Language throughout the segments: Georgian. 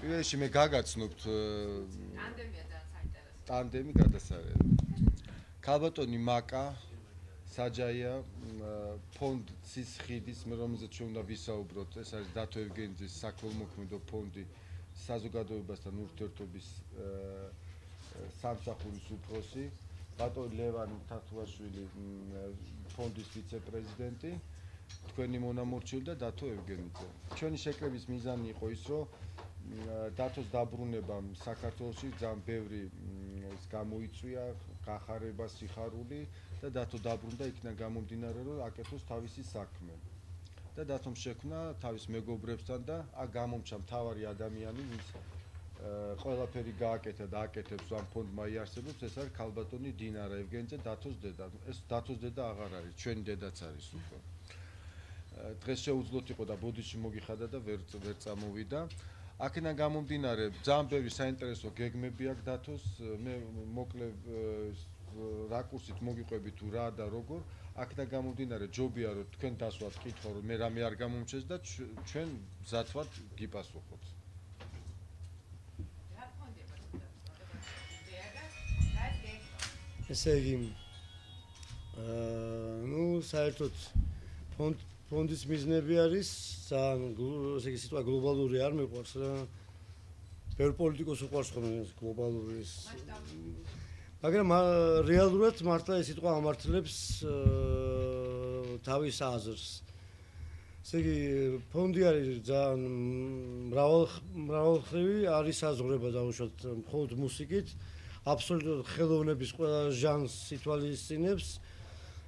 პირველში მე გაგაცნობთ ტანდემია ძალიან საინტერესო. ტანდემი გადასარევი. ქალბატონი მაკა საჯაია ფონდ ცისხიდის რომელზეც ჩვენ უნდა ვისაუბროთ ეს არის დათო ევგენიძის საქველმოქმედო ფონდი საზოგადოებასთან ურთიერთობის სამსახურის უფროსი ბატონი ლევან თათუაშვილი ფონდის ვიცე-პრეზიდენტი თქვენი მონამორჩილი და დათო ევგენიძე. ჩვენი შეკრების მიზანი იყო ის რომ დათოს დაბრუნებამ საქართველოში ძალიან ბევრი ის გამოიწვია გახარება სიხარული და დათო დაბრუნდა იქიდან გამომდინარე რომ აკეთოს თავისი საქმე. და დათომ შექმნა თავის მეგობრებთან და აქ გამომჩა მთავარი ადამიანი ვინც ყველაფერი გააკეთა და აკეთებს ამ ფონდმა იარსებობს ეს არის ქალბატონი დინარა ევგენიძე დათოს დედა. ეს დათოს დედა აღარ არის ჩვენი დედაც არის უკვე. დღეს შეუძლოთ იყო და ბოდიში მოგიხადა და ვერ წამოვიდა. აქედან გამომდინარე ძალიან ბევრი საინტერესო გეგმები აქვს დათოს მე მოკლე რაკურსით მოგიყვებით თუ რა და როგორ აქედან გამომდინარე ჯობია რომ თქვენ დასვათ კითხვა რომ მე რამე არ გამომჩეს და ჩვენ მზად ვართ გიპასუხოთ. ესე იგი ნუ საერთოდ ფონდის მიზნები არის ძალიან ესე იგი სიტყვა გლობალური არ მეყვარს რა ბევრ პოლიტიკოს უყვარს ხოლმე გლობალური ის მაგრამ რეალურად მართლა ეს სიტყვა ამართლებს თავის აზრს. ესე იგი ფონდი არის ძალიან მრავალმხრივი არის საზღვრება დაუშვათ მხოლოდ მუსიკით აბსოლუტურად ხელოვნების ყველა ჟანრს ითვალისწინებს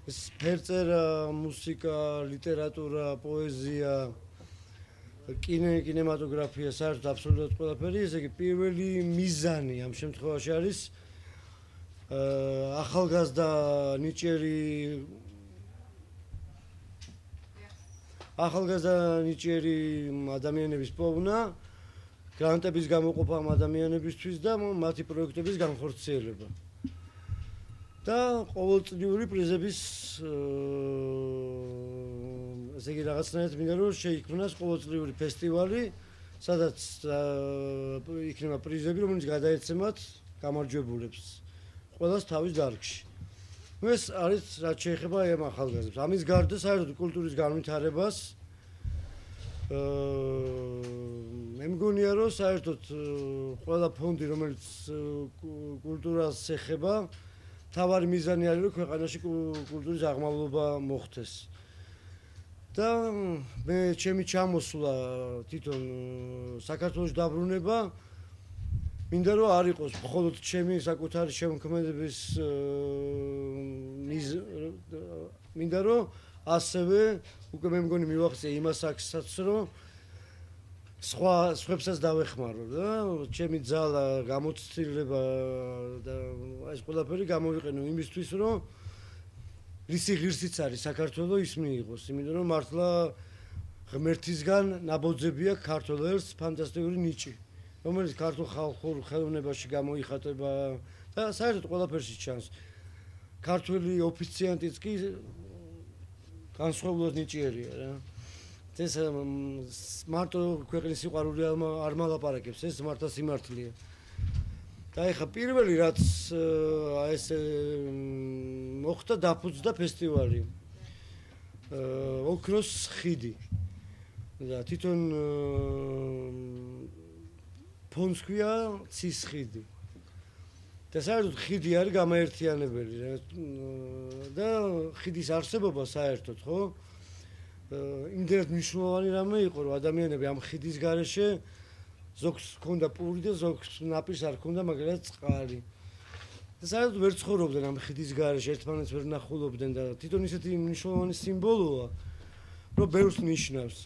ეს ფერწერა, მუსიკა, ლიტერატურა, პოეზია, კინემატოგრაფია, საერთოდ აბსოლუტურად ყველაფერი, ესე იგი პირველი მიზანი ამ შემთხვევაში არის ახალგაზრდა ნიჭიერი ადამიანების პოვნა, გრანტების გამოყოფა ამ ადამიანებისთვის და მათი პროექტების განხორციელება. და ყოველწლიური პრიზების ესე იგი რაღაცნაირად მინდა რომ შეიქმნას ყოველწლიური ფესტივალი, სადაც იქნება პრიზები, რომელიც გადაეცემათ გამარჯვებულებს ყველას თავის დარგში. ეს არის რაც შეეხება ამ ახალგაზრდებს. ამის გარდა საერთოდ კულტურის განვითარებას მე მგონია რომ საერთოდ ყველა ფონდი რომელიც კულტურას ეხება თავარი მიზანი არის რომ ქვეყანაში კულტურის აღმავლობა მოხდეს. და მე ჩემი ჩამოსვლა თვითონ საქართველოს დაბრუნება მინდა რომ არ იყოს მხოლოდ ჩემი საკუთარი შემოქმედების მინდა რომ ასევე უკვე მე მგონი მივახცე იმას აქსაც რომ სხვებსაც დავეხმარო და ჩემი ძალა გამოცდილება და ეს ყველაფერი გამოვიყენო იმისთვის რომ რისი ღირსიც არის საქართველოს ის მიიღოს იმიტომ რომ მართლა ღმერთისგან ნაბოძები აქვს ქართულ ერს ფანტასტიკური ნიჭი რომელიც ქართულ ხალხურ ხელოვნებაში გამოიხატება და საერთოდ ყველაფერში ჩანს ქართული ოფიციანტიც კი განსხვავებულად ნიჭიერია რა ეს მარტო ქვეყნის სიყვარული არ მალაპარაკებს ეს მართლა სიმართლეა და ეხა პირველი რაც ეს მოხდა დაფუძნდა ფესტივალი ოქროს ხიდი და თვითონ ფონდს ქვია ცის ხიდი და საერთოდ ხიდი არის გამაერთიანებელი და ხიდის არსებობა საერთოდ ხო იმდენად მნიშვნელოვანი რამე იყო რომ ადამიანები ამ ხიდის გარეშე ზოგს ჰქონდა პური და ზოგს ნაპირს არ ჰქონდა მაგალითად წყალი და საერთოდ ვერ ცხოვრობდნენ ამ ხიდის გარეშე ერთმანეთს ვერ ნახულობდნენ და თვითონ ისეთი მნიშვნელოვანი სიმბოლოა რომ ბევრს ნიშნავს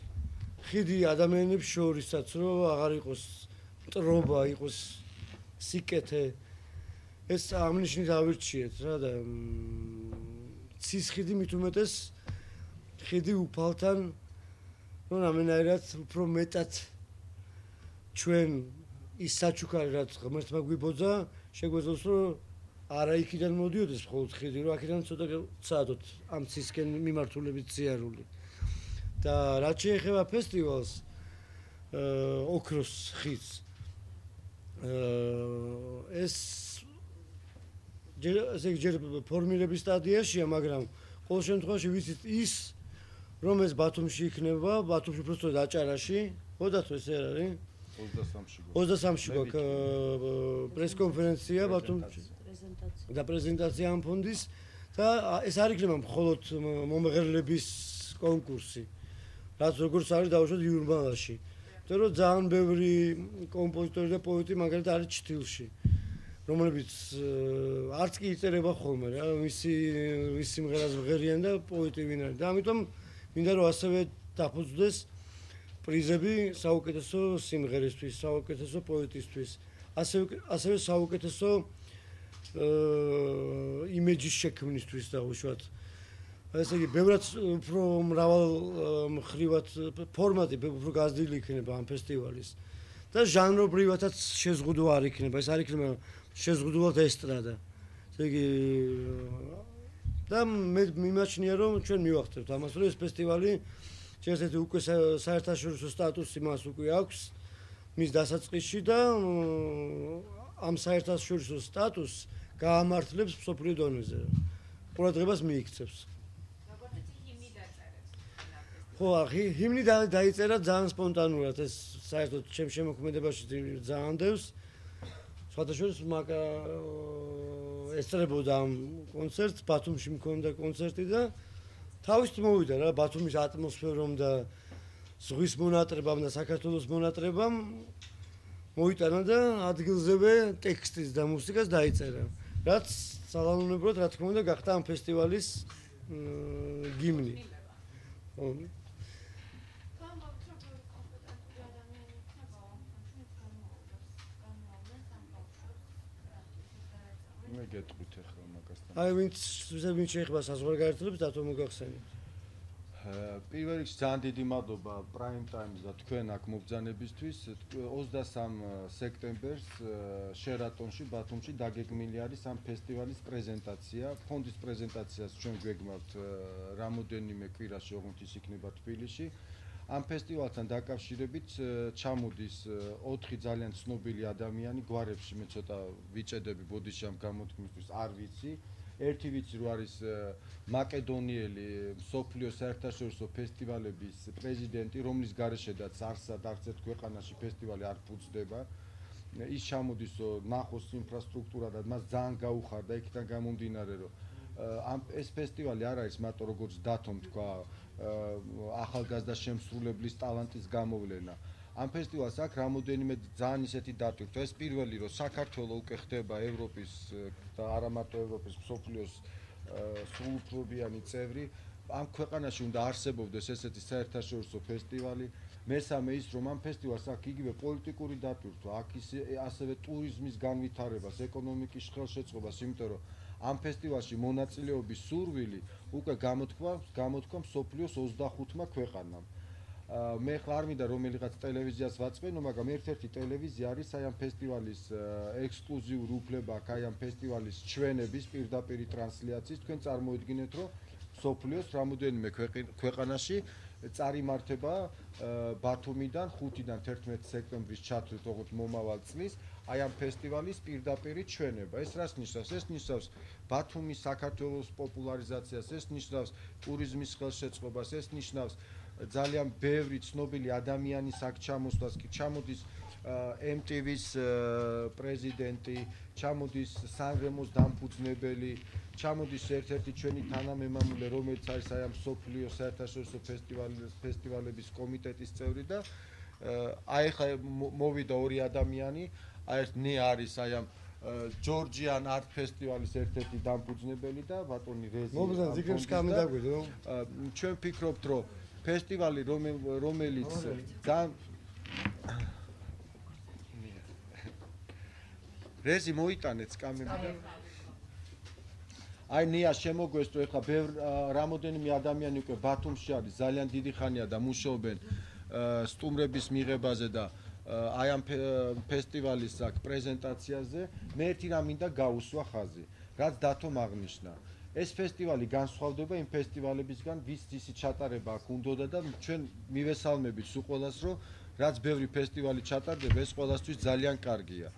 ხიდი ადამიანებს შორისაც რომ აღარ იყოს მტრობა იყოს სიკეთე ეს ამნიშნით ავირჩიეთ რა და ცის ხიდი მით უმეტეს ხიდი უფალთან რომ რამენაირად უფრო მეტად ჩვენ ის საჩუქარი რაც ღმერთმა გვიბოძა შეგვეძლოს რომ არა იქიდან მოდიოდეს მხოლოდ ხიდი რომ აქედან ცოტა წადოთ ამ ცისკენ მიმართულებით ზიარული და რაც შეეხება ფესტივალს ოქროს ხიდს ეს ჯერ ფორმირების სტადიაშია, მაგრამ ყოველ შემთხვევაში ვიცით ის რომ ეს ბათუმში იქნება, ბათუმში უბრალოდ აჭარაში, ხოდათ ეს არ არის? 23-ში გვაქვს პრესკონფერენცია ბათუმში და პრეზენტაცია ამ ფონდის და ეს არ იქნება მხოლოდ მომღერლების კონკურსი. რაც როგორც არის დავუშვათ იურმალაში. იმიტომ რომ ძალიან ბევრი კომპოზიტორი და პოეტი მაგალითად არის ჩრდილში, რომლებიც არც კი იწერება ხოლმე რა, მისი სიმღერას ვღერიან და პოეტი ვინ არის. და ამიტომ მინდა რომ ასევე დაფუძნდეს პრიზები საუკეთესო სიმღერისთვის, საუკეთესო პოეტისთვის, ასევე საუკეთესო იმეჯის შექმნისთვის დავუშვათ. ესე იგი, ბევრად უფრო მრავალ მხრივად ფორმატი უფრო გაზრდილი იქნება ამ ფესტივალის და ჟანრობრივადაც შეზღუდვა არ იქნება, ეს არ იქნება შეზღუდულად ესტრადა. ესე იგი, და მე მიმაჩნია რომ ჩვენ მივახცევთ ამას, რომ ეს ფესტივალი შეიძლება უკვე საერთაშორისო სტატუსი მას უკვე აქვს მის დასაწყისში და ამ საერთაშორისო სტატუსს გაამართლებს მსოფლიო დონეზე. ყურადღებას მიიქცევს. ხო, ჰიმნი დაიწერა ძალიან სპონტანურად, ეს საერთოდ ჩემ შემოქმედებაში ძალიან დევს. სხვადასხვა მაგა ესწრებოდა ამ კონცერტს, ბათუმში მქონდა კონცერტი და თავისით მოვიდა რა, ბათუმის ატმოსფერომ და ზღვის მონატრებამ და საქართველოს მონატრებამ მოიტანა და ადგილზევე ტექსტის და მუსიკას დაიწერა. რაც სალანონებლად, რა თქმა უნდა, გახდა ამ ფესტივალის გიმნი. მე გეტყვით ახლა მაგასთან. აი ვინც შეეხება საზღვარგარეთლებს დათო მოგახსენებთ. პირველ რიგში ძალიან დიდი მადლობა Prime Time-ს და თქვენ აქ მობრძანებისთვის. 23 სექტემბერს შერატონში, ბათუმში დაგეგმილი არის ამ ფესტივალის პრეზენტაცია. ფონდის პრეზენტაციას ჩვენ გვეგმავთ რამოდენიმე კვირაში, ოღონდ ის იქნება თბილისში. ამ ფესტივალთან დაკავშირებით ჩამოდის 4 ძალიან ცნობილი ადამიანი გვარებში, მე ცოტა ვიჭედები ბოდიში ამ გამოთქმისთვის, არ ვიცი. ერთი ვიცი რომ არის მაკედონიელი მსოფლიო საერთაშორისო ფესტივალების პრეზიდენტი, რომლის გარეშედაც არსად არც ერთ ქვეყანაში ფესტივალი არ ფუძდება. ის ჩამოდის ნახოს ინფრასტრუქტურა და მას ძალიან გაუხარდა იქიდან გამომდინარე რომ ეს ფესტივალი არ არის მარტო როგორც დათომ თქვა ახალგაზრდა შემსრულებლის ტალანტის გამოვლენა. ამ ფესტივალს აქვს რამოდენიმე ძალიან ისეთი დატვირთვა. ეს პირველი რომ საქართველოს უკვე ხდება ევროპის და არა მარტო ევროპის, მსოფლიოს სრულუფლებიანი წევრი. ამ ქვეყანაში უნდა არსებობდეს ესეთი საერთაშორისო ფესტივალი. მესამე ის რომ ამ ფესტივალს აქვს იგივე პოლიტიკური დატვირთვა, აქვს ასევე ტურიზმის განვითარებას, ეკონომიკის ხელშეწყობას, იმიტომ რომ ამ ფესტივალში მონაწილეობის სურვილი უკვე გამოთქვა მსოფლიოს 25 ქვეყანამ. მე ხარ არ მინდა რომელიღაც ტელევიზიას ვაწყენო, მაგრამ ერთ-ერთი ტელევიზია არის აი ამ ფესტივალის ექსკლუზიური უფლება აქვს აი ამ ფესტივალის ჩვენების პირდაპირი ტრანსლაციის. თქვენ წარმოიდგინეთ რომ მსოფლიოს რამოდენიმე ქვეყანაში წარიმართება ბათუმიდან 5-დან 11 სექტემბრის ჩათვლით ოღონდ მომავალ წლის აი ამ ფესტივალის პირდაპირი ჩვენება. ეს რას ნიშნავს? ეს ნიშნავს ბათუმის საქართველოს პოპულარიზაციას, ეს ნიშნავს ტურიზმის ხელშეწყობას, ეს ნიშნავს ძალიან ბევრი ცნობილი ადამიანის აქ ჩამოსვლას. კი ჩამოდის MTV-ს პრეზიდენტი, ჩამოდის სანრემოს დამფუძნებელი, ჩამოდის ერთ-ერთი ჩვენი თანამემამულე, რომელიც არის აი ამ მსოფლიო საერთაშორისო ფესტივალების კომიტეტის წევრი და აი ხა მოვიდა ორი ადამიანი, აი ეს ნე არის აი ამ ჯორჯიან არტ ფესტივალის ერთ-ერთი დამფუძნებელი და ბატონი რეზი. მოგზან ზიგრებს კამი დაგვიდო. ჩვენ ფიქრობთ რომ ფესტივალი რომელიც ძალიან რეზი მოიტანეთ კამერიდან. აი ნია შემოგვესწრო ეხლა რამოდენიმე ადამიანი უკვე ბათუმში არის, ძალიან დიდი ხანია და მუშაობენ სტუმრების მიღებაზე და აი ამ ფესტივალის აქ პრეზენტაციაზე. მე ერთი რამ მინდა გაუსვა ხაზი, რაც დათომ აღნიშნა. ეს ფესტივალი განსხვავდება იმ ფესტივალებისგან, ვის ისი ჩატარება აქ უნდოდა და ჩვენ მივესალმებით სულ ყველას, რომ რაც ბევრი ფესტივალი ჩატარდება, ეს ყველასთვის ძალიან კარგია.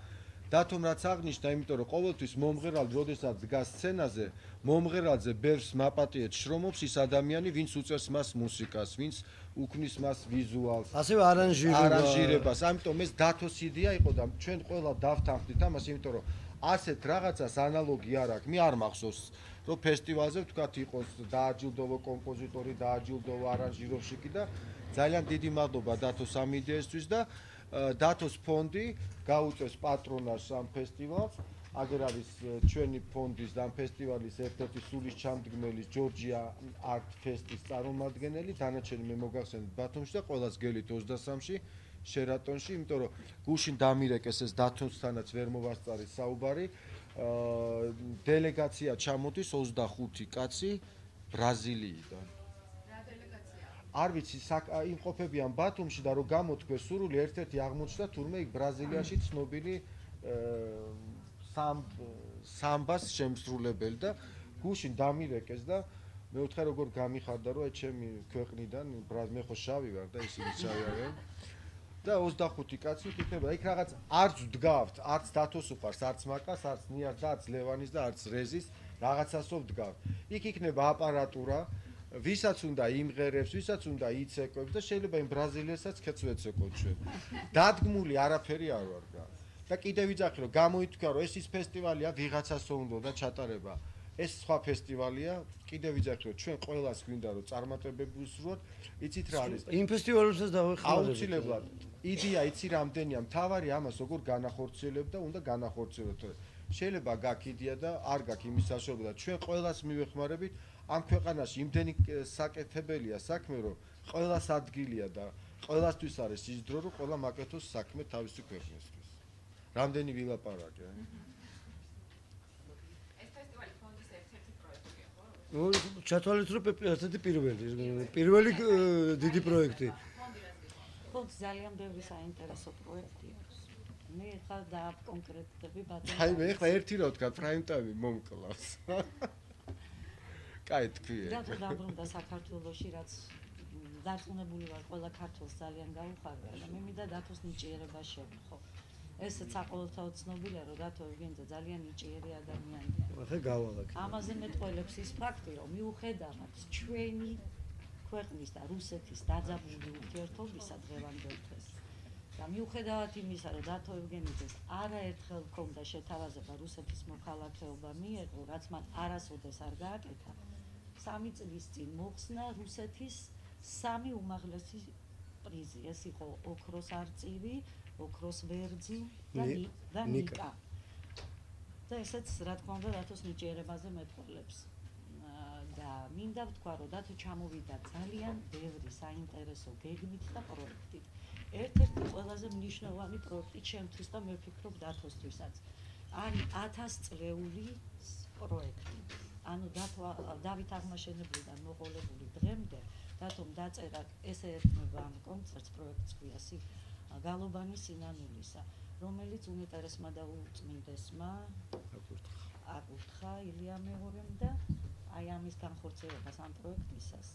დათომ რაც აღნიშნა, იმიტომ რომ ყოველთვის მომღერალი, როდესაც დგას სცენაზე, მომღერალზე ბევრს მაპატიეთ შრომობს ის ადამიანი, ვინც უწევს მას მუსიკას, ვინც უქმნის მას ვიზუალს, ასევე არანჟირებას. ამიტომ ეს დათოს იდეა იყო და ჩვენ ყველა დავთანხმდით ამას, იმიტომ რომ ასეთ რაღაცას ანალოგი არ აქვს. მე არ მახსოვს, რომ ფესტივალზე ვთქვათ იყოს დააჯილდოვა კომპოზიტორი, დააჯილდოვა არანჟიროვщики და ძალიან დიდი მადლობა დათოს ამ იდეისთვის და დათოს ფონდი გაუწევს პატრონაჟს ამ ფესტივალს. აგერ არის ჩვენი ფონდის და ამ ფესტივალის ერთ-ერთი სულისჩამდგმელი ჯორჯია არტ ფესტის წარმომადგენელი. დანარჩენი მე მოგახსენებთ ბათუმში და ყველას გელით 23-ში შერატონში, იმიტომ რომ გუშინ დამირეკეს ეს დათოსთანაც ვერ მოვასწარი საუბარი. დელეგაცია ჩამოდის 25 კაცი ბრაზილიიდან. არ ვიცი, იმყოფებიან ბათუმში და რომ გამოთქვეს სურვილი, ერთ-ერთი აღმოჩნდა თურმე იქ ბრაზილიაში ცნობილი სამბას შემსრულებელი და გუშინ დამირეკეს და მე ვთხარ როგორ გამიხარდა რომ ჩემი ქვეყნიდან მე ხო შავი ვარ და ისინი შავი არიან და 25 კაცი იქნება იქ რაღაც არც ვდგავთ, არც დათოს უყარს, არც მაკას, არც ნიას და არც ლევანის და არც რეზის რაღაცასო ვდგავთ. იქ იქნება აპარატურა, ვისაც უნდა იმღერებს, ვისაც უნდა იცეკვებს და შეიძლება იმ ბრაზილიასაც ქეც ვეცეკოთ ჩვენ. დადგმული არაფერი არ ვარ გა. და კიდე ვიძახი რომ გამოითქვა რომ ეს ის ფესტივალია ვიღაცასო უნდა და ჩატარება. ეს სხვა ფესტივალია, კიდე ვიძახი რომ ჩვენ ყველას გვინდა რომ წარმატებები ვუსურვოთ. იცით რა არის? იმ ფესტივალებსაც დავეხმარებით. აუცილებლად. იდეა იცი რამდენია, მთავარი ამას როგორ განახორციელებ და უნდა განახორციელოთ. შეიძლება გაქვს იდეა და არ გაქვს იმის საშუალება და ჩვენ ყველას მივეხმარებით. ამ ქვეყანაში იმდენი საკეთებელია საქმე, რომ ყველას ადგილია და ყველასთვის არის ის დრო, რომ ყველა მაკეთოს საქმე თავისი ქვეყნისთვის. რამდენი ვილაპარაკე? ეს ფესტივალი ფონდის ერთ-ერთი პროექტია, ხო? ჩათვალეთ რომ ერთ-ერთი პირველი დიდი პროექტი. ფონდს ძალიან ბევრი საინტერესო პროექტი აქვს. მე ხარ და კონკრეტები ბატონო. აი მე ხა ერთი რა ვთქვა, პრაიმ ტაიმი მომკლავს. კაი თქვი. რატო დაბრუნდა საქართველოში, რაც დარწმუნებული ვარ, ყველა ქართველს ძალიან გაუხარდა და მე მინდა დათოს ნიჭიერება შევხო. ესეც საყოველთაოდ ცნობილია, რომ დათო ევგენიძე ძალიან ნიჭიერი ადამიანია. ახლა გავალაკე. ამაზე მეტყველებს ის ფაქტი, რომ მიუხედავად ჩვენი ქვეყნის და რუსეთის დაძაბული ურთიერთობისა დღევანდელ დღეს და მიუხედავად იმისა, რომ დათო ევგენიძეს არაერთხელ ჰქონდა შეთავაზება რუსეთის მოქალაქეობა მიეღო, რაც მან არასოდეს არ გააკეთა, 3 წლის წინ მოხსნა რუსეთის 3 უმაღლესი პრიზი. ეს იყო ოქროს არწივი, ოქროს ვერძი და ნიკა. და ესეც რა თქმა უნდა დათოს ნიჭიერებაზე მეტყველებს. და მინდა ვთქვა, რომ დათო ჩამოვიდა ძალიან ბევრი საინტერესო გეგმით და პროექტით. ერთ-ერთი ყველაზე მნიშვნელოვანი პროექტი ჩემთვის და მე ვფიქრობ დათოსთვისაც არის 1000 წლეული პროექტი. ანუ დათო დავით აღმაშენებლიდან მოყოლებული დღემდე დათომ დაწერა ესე ერთმება ამ კონცერტს პროექტს ქვია გალობანი სინანულისა, რომელიც უნეტარესმა და უწმინდესმა აკურთხა ილია მეღორემ და აი ამის განხორციელებას ამ პროექტისას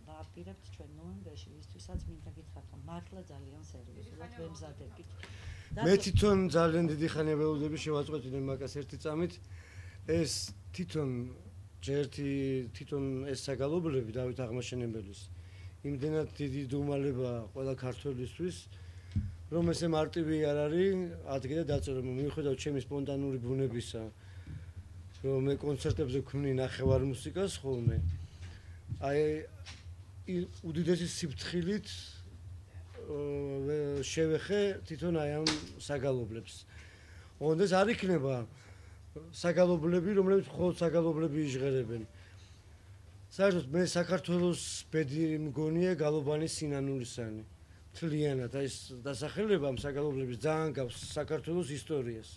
ვაპირებთ ჩვენ ნოემბერში, ისთვისაც მინდა გითხრათ, რომ მართლა ძალიან სერიოზულად ვემზადებით. მე თვითონ ძალიან დიდი ხანია ველოდები შევაწყვეტინე მაგას ერთი წამით. ეს თვითონ ეს საგალობლები დავით აღმაშენებელის იმდენად დიდი დუმალება ყველა ქართველისთვის, რომ ესე მარტივი არ არის ადგილი და დაწერა. მიუხედავად ჩემი სპონტანური ბუნებისა, რომ მე კონცერტებზე ვქმნი ნახევარ მუსიკას ხოლმე, აი უდიდესი სიფრთხილით შევეხე თვითონ აი ამ საგალობლებს. ოღონდ ეს არ იქნება საგალობლები, რომლებიც მხოლოდ საგალობლები იჟღერებენ. საერთოდ მე საქართველოს ბედი მგონია გალობანის სინანულისანი. მთლიანად აი ეს დასახელება ამ საგალობლების ძალიან გავს საქართველოს ისტორიას.